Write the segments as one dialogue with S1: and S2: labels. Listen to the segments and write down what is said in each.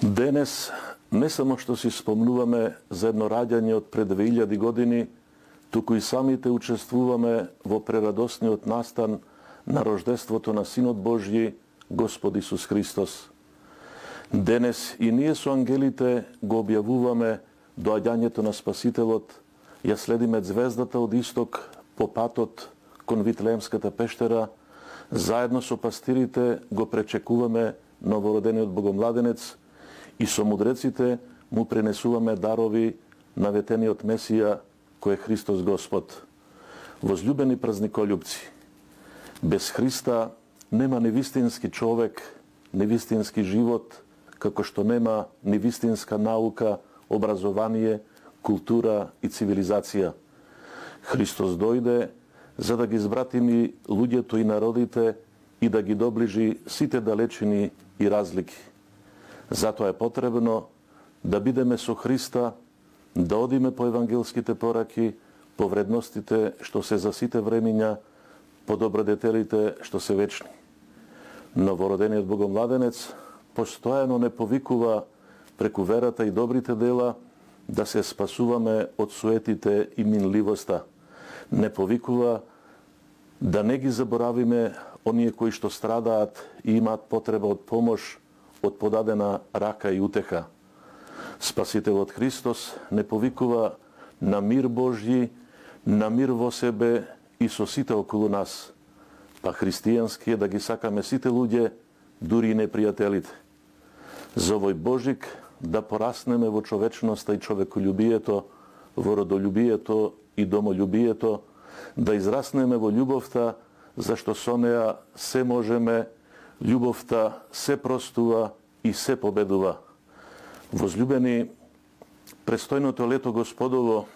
S1: Денес не само што си спомнуваме за едно раѓање од пред 2000 години, туку и самите учествуваме во прерадосниот настан на рождеството на Синот Божји, Господ Исус Христос. Денес и ние со ангелите го објавуваме доаѓањето на Спасителот, ја следиме звездата од исток по патот кон Витлеемската пештера, заедно со пастирите го пречекуваме новородениот богомладенец и со мудреците му пренесуваме дарови на ветениот Месија, кој е Христос Господ. Возлюбени празниколюбци, без Христа нема ни вистински човек, ни вистински живот, како што нема ни вистинска наука, образование, култура и цивилизација. Христос дојде за да ги збратими луѓето и народите и да ги доближи сите далечини и разлики. Затоа е потребно да бидеме со Христа, да одиме по евангелските пораки, по вредностите што се за сите времиња, по добродетелите што се вечни. Новородениот богомладенец постојано не повикува преку верата и добрите дела да се спасуваме од суетите и минливоста. Не повикува да не ги заборавиме оние кои што страдаат и имаат потреба од помош, од подадена рака и утеха. Спасителот Христос не повикува на мир Божји, на мир во себе и со сите околу нас, па христијански е да ги сакаме сите луѓе, дури и непријателите. За овој Божик да пораснеме во човечноста и човеколюбието, во родолюбието и домолюбието, да израснеме во љубовта, зашто со неа се можеме, љубовта се простува и се победува. Возлюбени, престојното лето Господово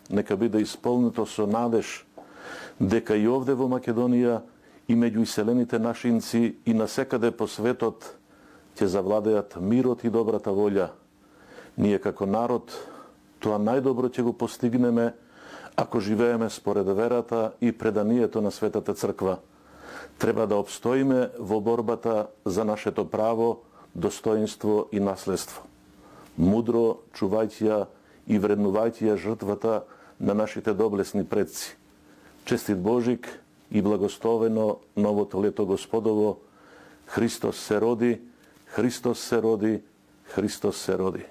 S1: нека биде исполнето со надеж дека и овде во Македонија и меѓу иселените нашинци и насекаде по светот ќе завладеат мирот и добрата волја. Ние како народ тоа најдобро ќе го постигнеме ако живееме според верата и преданието на Светата Црква. Треба да обстоиме во борбата за нашето право, достоинство и наследство. Мудро чувајќи ја и вреднувајќи ја жртвата на нашите доблесни предци. Честит Божик и благословено новото лето Господово. Христос се роди, Христос се роди, Христос се роди.